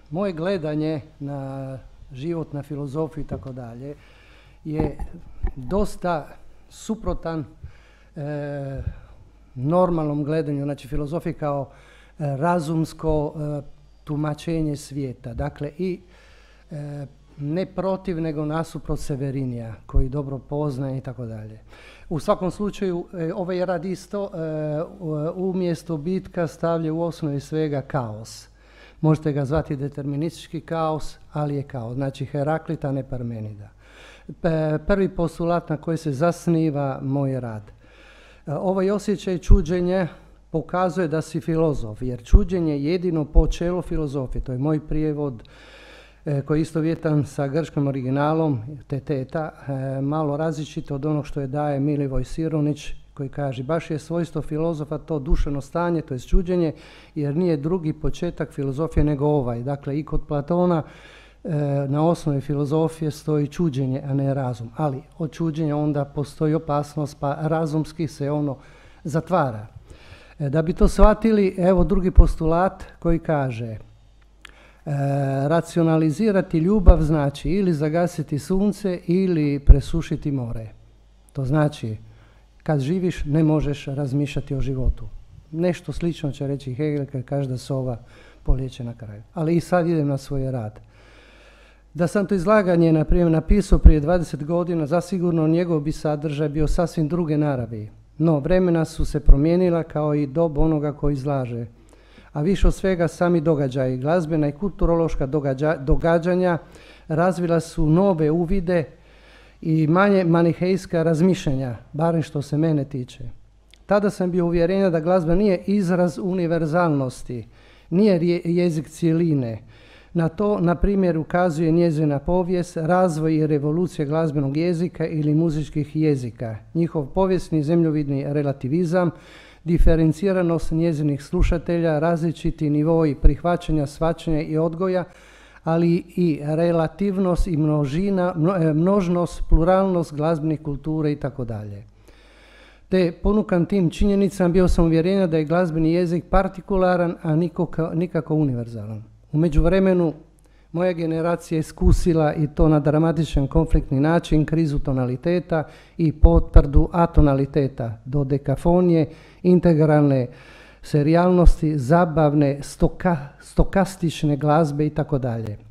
Moje gledanje na život, na filozofiju i tako dalje je dosta suprotan normalnom gledanju, znači filozofije kao razumsko tumačenje svijeta. Dakle, i ne protiv, nego nasuprot Severinija, koji dobro poznaje i tako dalje. U svakom slučaju, ovaj rad isto umjesto bitka stavlja u osnovi svega kaos. Možete ga zvati deterministički kaos, ali je kaos. Znači Heraklita, ne Parmenida. Prvi postulat na koji se zasniva moj rad. Ovaj osjećaj čuđenja pokazuje da si filozof, jer čuđenje je jedino počelo filozofije. To je moj prijevod koji je istovjetan sa grčkim originalom, teteta, malo različito od onog što je daje Milivoj Sironić, koji kaže baš je svojstvo filozofa to duševno stanje, to je čuđenje, jer nije drugi početak filozofije nego ovaj. Dakle, i kod Platona na osnovi filozofije stoji čuđenje, a ne razum. Ali od čuđenja onda postoji opasnost, pa razumski se ono zatvara. Da bi to shvatili, evo drugi postulat koji kaže racionalizirati ljubav znači ili zagasiti sunce ili presušiti more. To znači kad živiš ne možeš razmišljati o životu. Nešto slično će reći Hegel kad kaže da sova polijeće na kraju. Ali i sad idem na svoj rad. Da sam to izlaganje, na primjer, napisao prije 20 godina, zasigurno njegov bi sadržaj bio sasvim druge naravi. No, vremena su se promijenila kao i dob onoga koji izlaže. A više od svega sami događaji, glazbena i kulturološka događanja razvila su nove uvide i manje manihejska razmišljanja, barem što se mene tiče. Tada sam bio uvjerenja da glazba nije izraz univerzalnosti, nije jezik cjeline. Na to, na primjer, ukazuje njezina povijest, razvoj i revolucija glazbenog jezika ili muzičkih jezika, njihov povijesni zemljovidni relativizam, diferenciranost njezinih slušatelja, različiti nivoi prihvaćanja, shvaćanja i odgoja, ali i relativnost i množnost, pluralnost glazbenih kultura itd. Te ponukan tim činjenicama bio sam uvjerenja da je glazbeni jezik partikularan, a nikako univerzalan. U međuvremenu moja generacija je iskusila i to na dramatičan konfliktni način krizu tonaliteta i potvrdu atonaliteta, dodekafonije, integralne serijalnosti, zabavne, stokastične glazbe itd.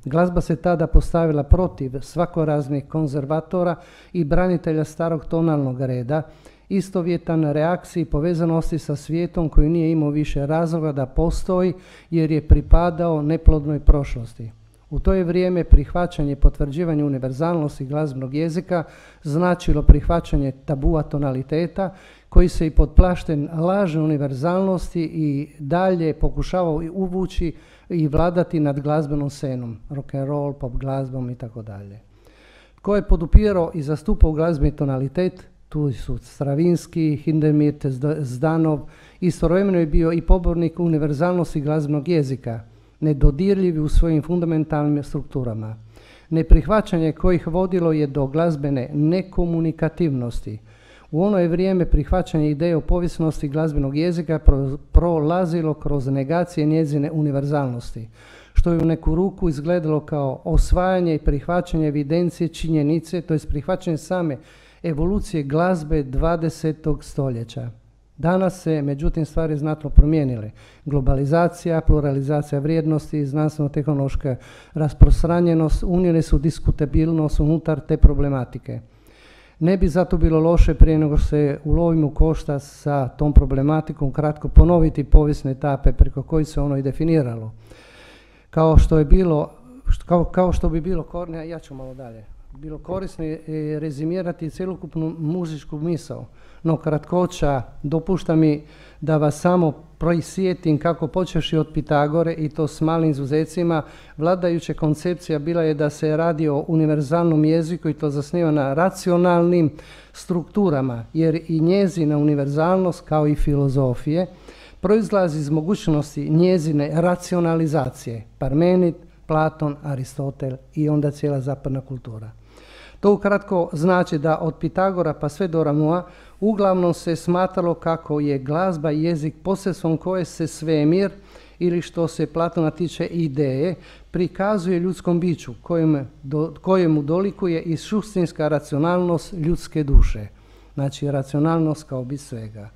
Glazba se tada postavila protiv svakoraznih konzervatora i branitelja starog tonalnog reda, istovjetan reakciji povezanosti sa svijetom koji nije imao više razloga da postoji jer je pripadao neplodnoj prošlosti. U to je vrijeme prihvaćanje i potvrđivanje univerzalnosti glazbenog jezika značilo prihvaćanje tabua tonaliteta koji se i pod plaštem lažne univerzalnosti i dalje pokušavao uvući i vladati nad glazbenom scenom, rock and roll, pop glazbom itd. Tko je podupirao i zastupao glazbeni tonalitet? Tu su Stravinski, Hindemith, Zdanov. Istovremeno je bio i pobornik univerzalnosti glazbenog jezika, nedodirljivi u svojim fundamentalnim strukturama. Neprihvaćanje kojih vodilo je do glazbene nekomunikativnosti. U ono je vrijeme prihvaćanje ideje o povijesnosti glazbenog jezika prolazilo kroz negacije njezine univerzalnosti, što je u neku ruku izgledalo kao osvajanje i prihvaćanje evidencije činjenice, to je prihvaćanje same evolucije glazbe 20. stoljeća. Danas se, međutim, stvari znatno promijenile. Globalizacija, pluralizacija vrijednosti, znanstveno-tehnološka rasprostranjenost unijele su diskutabilnost unutar te problematike. Ne bi zato bilo loše prije nego se ulovimo košta sa tom problematikom kratko ponoviti povijesne etape preko kojih se ono i definiralo. Kao što bi bilo ja ću malo dalje. Bilo korisno je rezimirati cjelokupnu muzičku misao, no kratkoća dopušta mi da vas samo proisjetim kako počeši od Pitagore i to s malim izuzecima, vladajuća koncepcija bila je da se radi o univerzalnom jeziku i to zasniva na racionalnim strukturama, jer i njezina univerzalnost kao i filozofije proizlazi iz mogućnosti njezine racionalizacije, Parmenid, Platon, Aristotel i onda cijela zapadna kultura. To ukratko znači da od Pitagora pa sve do Ramua uglavnom se smatralo kako je glazba i jezik posredstvom koje se svemir ili što se Platona tiče ideje, prikazuje ljudskom biću kojemu dolikuje i suštinska racionalnost ljudske duše. Znači racionalnost kao bit svega.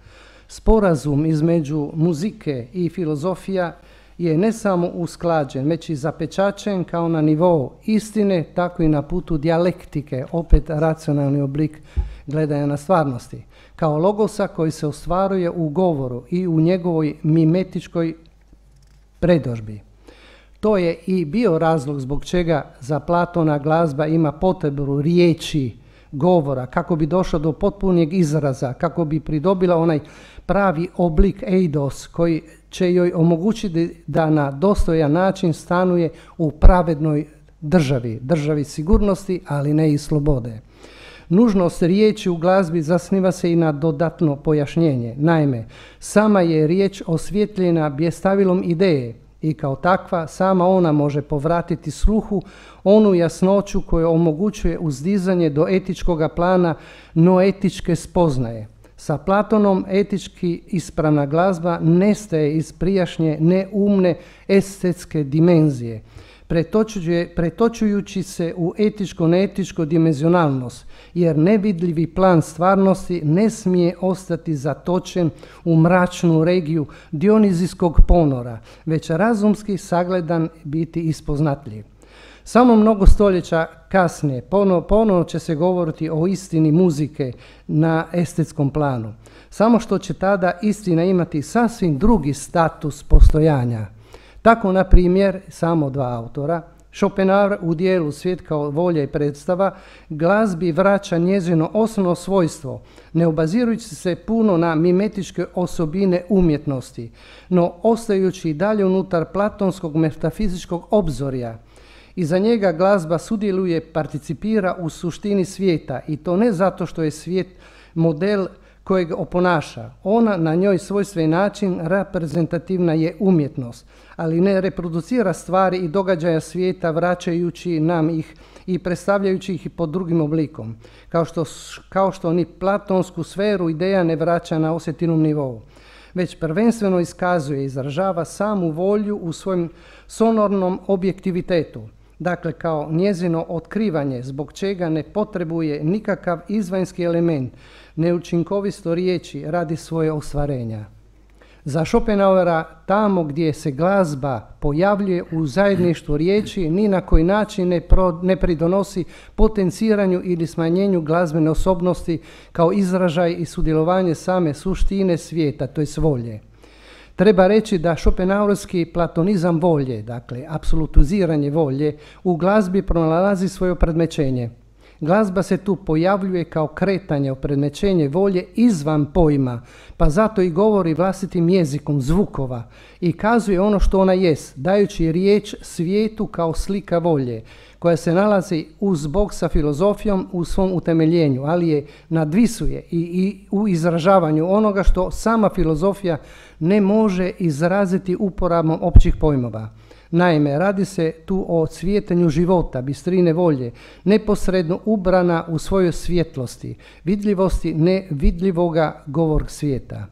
Sporazum između muzike i filozofija je ne samo usklađen, već i zapečaćen kao na nivou istine, tako i na putu dijalektike, opet racionalni oblik gledanja na stvarnosti, kao logosa koji se ostvaruje u govoru i u njegovoj mimetičkoj predodžbi. To je i bio razlog zbog čega za Platona glazba ima potrebu riječi, govora, kako bi došla do potpunijeg izraza, kako bi pridobila onaj pravi oblik eidos koji će joj omogućiti da na dostojan način stanuje u pravednoj državi sigurnosti, ali ne i slobode. Nužnost riječi u glazbi zasniva se i na dodatno pojašnjenje. Naime, sama je riječ osvjetljena bjestavilom ideje i kao takva sama ona može povratiti sluhu onu jasnoću koju omogućuje uzdizanje do etičkoga plana noetičke spoznaje. Sa Platonom etički ispravna glazba nestaje iz prijašnje neumne estetske dimenzije, pretočujući se u etičko-neetičko dimenzionalnost, jer nevidljivi plan stvarnosti ne smije ostati zatočen u mračnu regiju dionizijskog ponora, već razumski sagledan biti ispoznatljiv. Samo mnogo stoljeća kasnije ponovo će se govoriti o istini muzike na estetskom planu. Samo što će tada istina imati sasvim drugi status postojanja. Tako, na primjer, samo dva autora, Schopenhauer u dijelu Svijet kao volja i predstava glazbi vraća njezino osnovno svojstvo, ne obazirujući se puno na mimetičke osobine umjetnosti, no ostajući i dalje unutar platonskog metafizičkog obzorja. Iza njega glazba sudjeluje, participira u suštini svijeta i to ne zato što je svijet model kojeg oponaša. Ona na njoj svojstven način reprezentativna je umjetnost, ali ne reproducira stvari i događaja svijeta vraćajući nam ih i predstavljajući ih pod drugim oblikom, kao što ni platonsku sferu ideja ne vraća na osjetilnom nivou, već prvenstveno iskazuje i izražava samu volju u svojem sonornom objektivitetu. Dakle, kao njezino otkrivanje, zbog čega ne potrebuje nikakav izvanjski element, neučinkovito riječi radi svoje ostvarenja. Za Schopenhauera, tamo gdje se glazba pojavljuje u zajedništvu riječi, ni na koji način ne pridonosi potenciranju ili smanjenju glazbene osobnosti kao izražaj i sudjelovanje same suštine svijeta, to je volje. Treba reći da Schopenhauerski platonizam volje, dakle apsolutiziranje volje, u glazbi pronalazi svoje opredmećenje. Glazba se tu pojavljuje kao kretanje, opredmećenje volje izvan pojma, pa zato i govori vlastitim jezikom zvukova i kazuje ono što ona jest, dajući riječ svijetu kao slika volje, koja se nalazi uz Bog sa filozofijom u svom utemeljenju, ali je nadvisuje i u izražavanju onoga što sama filozofija ne može izraziti uporabom općih pojmova. Naime, radi se tu o cvjetanju života, bistrine volje, neposredno ubrana u svojoj svjetlosti, vidljivosti nevidljivoga govor svijeta.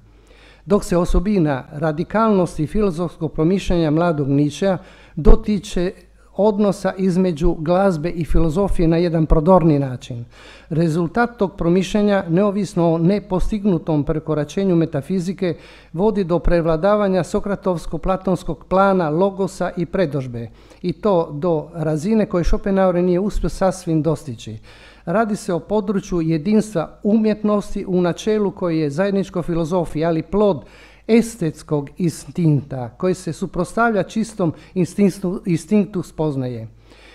Dok se osobina radikalnosti filozofskog promišljanja mladog Nietzschea dotiče odnosa između glazbe i filozofije na jedan prodorni način. Rezultat tog promišljanja, neovisno o nepostignutom prekoračenju metafizike, vodi do prevladavanja sokratovsko-platonskog plana, logosa i predodžbe, i to do razine koje Schopenhauer nije uspio sasvim dostići. Radi se o području jedinstva umjetnosti u načelu koji je zajedničko filozofiji, ali plod estetskog instinkta koji se suprotstavlja čistom instinktu spoznaje.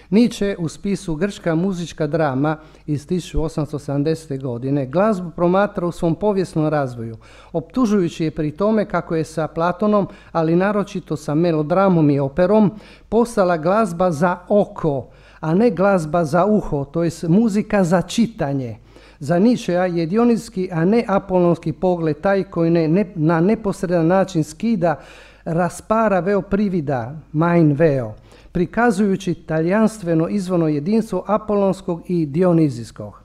Nietzsche u spisu Grčka muzička drama iz 1870. godine glazbu promatra u svom povijesnom razvoju, optužujući je pri tome kako je sa Platonom, ali naročito sa melodramom i operom, postala glazba za oko, a ne glazba za uho, to jest muzika za čitanje. Za Nietzschea je dionizijski, a ne apolonski pogled taj koji na neposredan način skida, raspara veo privida, mein veo, prikazujući talijanstveno izvorno jedinstvo apolonskog i dionizijskog.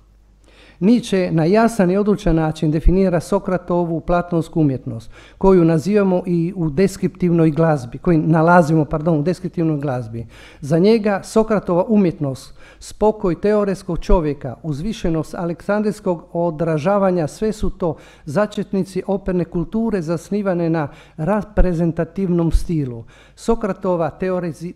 Nietzsche na jasan i odlučan način definira Sokratovu platonsku umjetnost, koju nazivamo i u deskriptivnoj glazbi, koju nalazimo, u deskriptivnoj glazbi. Za njega Sokratova umjetnost, spokoj teoretskog čovjeka, uzvišenost aleksandrijskog odražavanja, sve su to začetnici operne kulture zasnivane na reprezentativnom stilu. Sokratova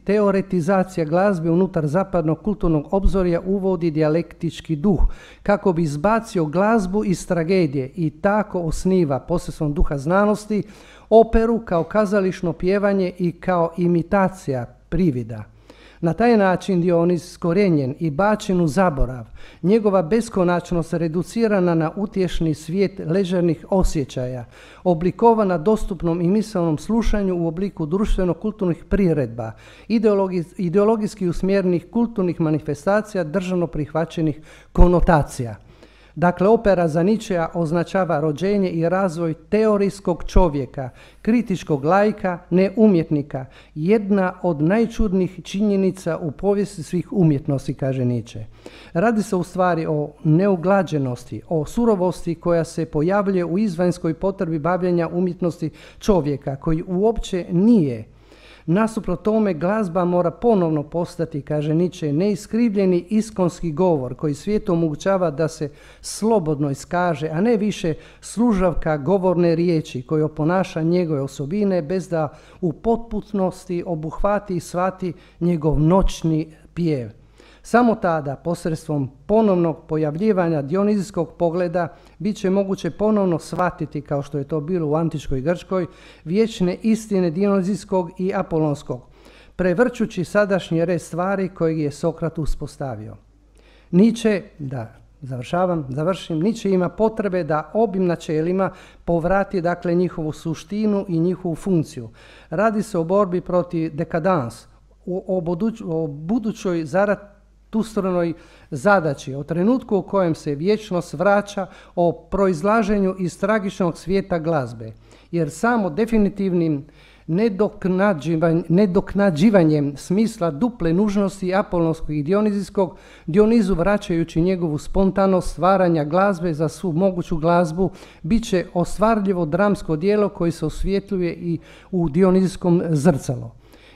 teoretizacija glazbe unutar zapadnog kulturnog obzorja uvodi dijalektički duh, kako bi izbacio glazbu iz tragedije i tako osniva posredstvom duha znanosti operu kao kazališno pjevanje i kao imitacija privida. Na taj način Dioniz iskorijenjen i bačen u zaborav, njegova beskonačnost reducirana na utješni svijet ležernih osjećaja, oblikovana dostupnom i misaonom slušanju u obliku društveno-kulturnih priredba, ideologijski usmjerenih kulturnih manifestacija državno prihvaćenih konotacija. Dakle, opera za Nietzschea označava rođenje i razvoj teorijskog čovjeka, kritičkog laika, ne umjetnika, jedna od najčudnijih činjenica u povijesti svih umjetnosti, kaže Nietzsche. Radi se u stvari o neuglađenosti, o surovosti koja se pojavljuje u izvanjskoj potrebi bavljenja umjetnosti čovjeka, koji uopće nije. Nasuprot tome, glazba mora ponovno postati, kaže Nietzsche, neiskrivljeni iskonski govor koji svijetu omogućava da se slobodno iskaže, a ne više služavka govorne riječi koji oponaša njegove osobine bez da u potpunosti obuhvati i shvati njegov noćni pjev. Samo tada, posredstvom ponovnog pojavljivanja dionizijskog pogleda, bit će moguće ponovno shvatiti, kao što je to bilo u antičkoj Grčkoj, vječne istine dionizijskog i apolonskog, prevrćući sadašnji red stvari kojeg je Sokrat uspostavio. Nietzsche, Nietzsche ima potrebe da obim načelima povrati, dakle, njihovu suštinu i njihovu funkciju. Radi se o borbi protiv dekadans, o budućoj zaratustrovnoj zadaći, o trenutku u kojem se vječnost vraća, o proizlaženju iz tragičnog svijeta glazbe. Jer samo definitivnim nedoknađivanjem smisla duple nužnosti apolonskog i dionizijskog, Dionizu vraćajući njegovu spontanost stvaranja glazbe za svu moguću glazbu, bit će ostvarljivo dramsko djelo koje se osvjetljuje i u dionizijskom zrcalu.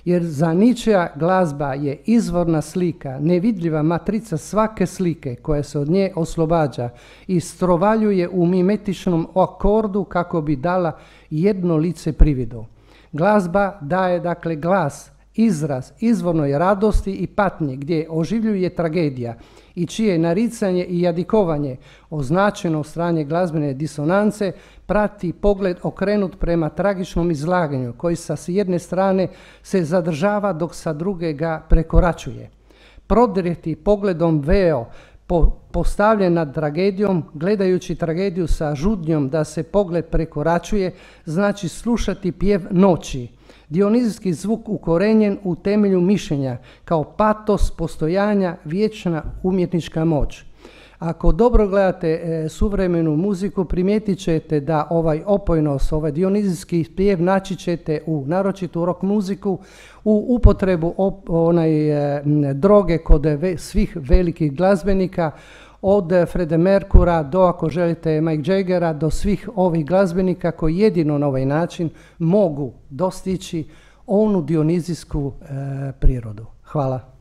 Jer za Nietzschea glazba je izvorna slika, nevidljiva matrica svake slike koja se od nje oslobađa i strovaljuje u mimetičnom akordu kako bi dala jedno lice prividu. Glazba daje, dakle, glas, izraz izvornoj radosti i patnje gdje oživljuje tragedija i čije naricanje i jadikovanje, označeno od strane glazbene disonance, prati pogled okrenut prema tragičnom izlaganju koji sa jedne strane se zadržava dok sa druge ga prekoračuje. Prodrijeti pogledom veo postavljen nad tragedijom, gledajući tragediju sa žudnjom da se pogled prekoračuje, znači slušati pjev noći. Dionizijski zvuk ukorenjen u temelju mišljenja, kao patos postojanja, vječna umjetnička moć. Ako dobro gledate suvremenu muziku, primijetit ćete da ovaj opojnost, ovaj dionizijski pjev naći ćete u naročitu rock muziku, u upotrebu droge kod svih velikih glazbenika, od Freddie Mercura do, ako želite, Mike Jaggera, do svih ovih glazbenika koji jedino na ovaj način mogu dostići onu dionizijsku prirodu. Hvala.